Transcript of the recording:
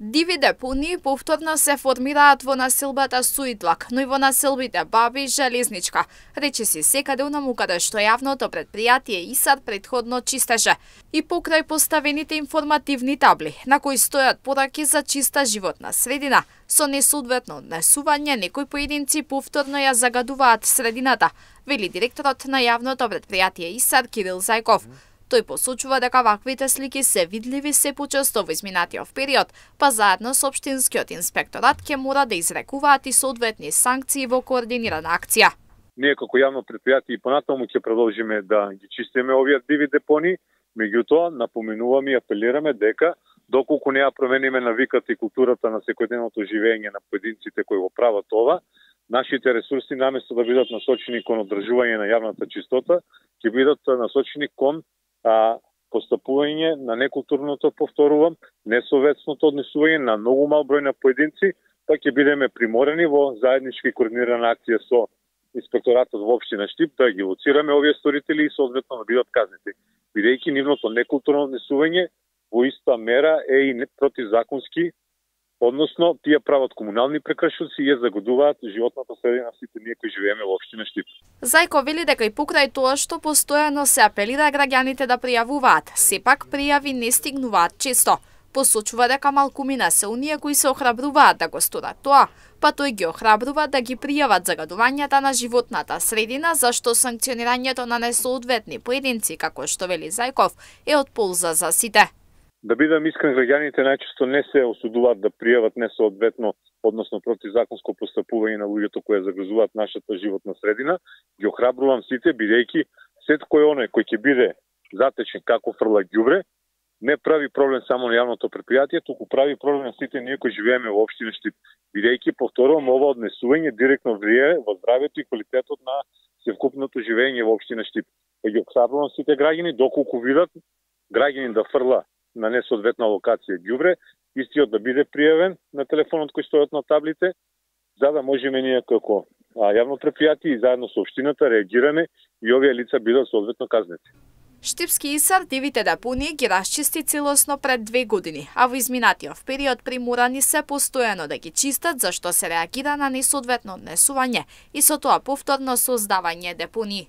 Диви депонии повторно се формираат во населбата Суидлак, но и во населбите Баби и Железничка, речиси секаде онаму каде што јавното предпријатие ИСАР предходно чистеше, и покрај поставените информативни табли, на кои стојат пораки за чиста животна средина, со несоодветно однесување некои поединци повторно ја загадуваат средината, вели директорот на јавното предпријатие ИСАР Кирил Зајков. Тој посочува дека ваквите слики се видливи се почесто во изминатиот период, па заедно со општинскиот инспекторат ќе мора да изрекуваат и соодветни санкции во координирана акција. Ние како јавно предпријатие и понатаму ќе продолжиме да ги чистиме овие диви депонии, меѓутоа напоменуваме и апелираме дека доколку не ја промениме навиката и културата на секојдневното живење на поединците кои го прават ова, нашите ресурси наместо да бидат насочени кон одржување на јавната чистота, ќе бидат насочени кон постапување на некултурното, повторувам, несоветсното однесување на многу мал број на поединци, па ќе бидеме приморени во заеднички координирана акција со инспекторатот во општина Штип да ги лоцираме овие сторители и соодветно да бидат казнети, бидејќи нивното некултурно однесување во иста мера е и противзаконски, односно тие прават комунални прекршоци и ја загадуваат животната средина сите ние кои живееме во општина Штип. Зајко вели дека и покрај тоа што постојано се апелира граѓаните да пријавуваат, сепак пријави не стигнуваат често. Посочува дека малкумина се оние кои се охрабруваат да го сторат тоа, па тој ги охрабрува да ги пријават загадувањата на животната средина, зашто санкционирањето на несоодветни поединци, како што вели Зајков, е од полза за сите. Да бидам искрен, граѓаните најчесто не се осудуваат да пријават несоодветно, односно противзаконско постапување на луѓето кои загрозуваат нашата животна средина. Ги охрабрувам сите, бидејќи секој оној кој ќе биде затечен како фрла ѓубре, не прави проблем само на јавното предпријатие, туку прави проблем на сите ние кои живееме во општина Штип, бидејќи повторувам ова однесување директно влијае во здравјето и квалитетот на севкупното живење во општина Штип. Ги охрабрувам сите граѓани доколку видат граѓанин да фрла на несоодветна локација ѓубре, истиот да биде пријавен на телефонот кој стојат на таблите, за да можеме ние како јавно предпријатие и заедно со општината реагираме и овие лица бидат соодветно казнети. Штипски ИСАР дивите депонии ги расчисти целосно пред 2 години, а во изминатиот период приморани се постојано да ги чистат зашто се реагира на несоодветно однесување и со тоа повторно создавање депонии.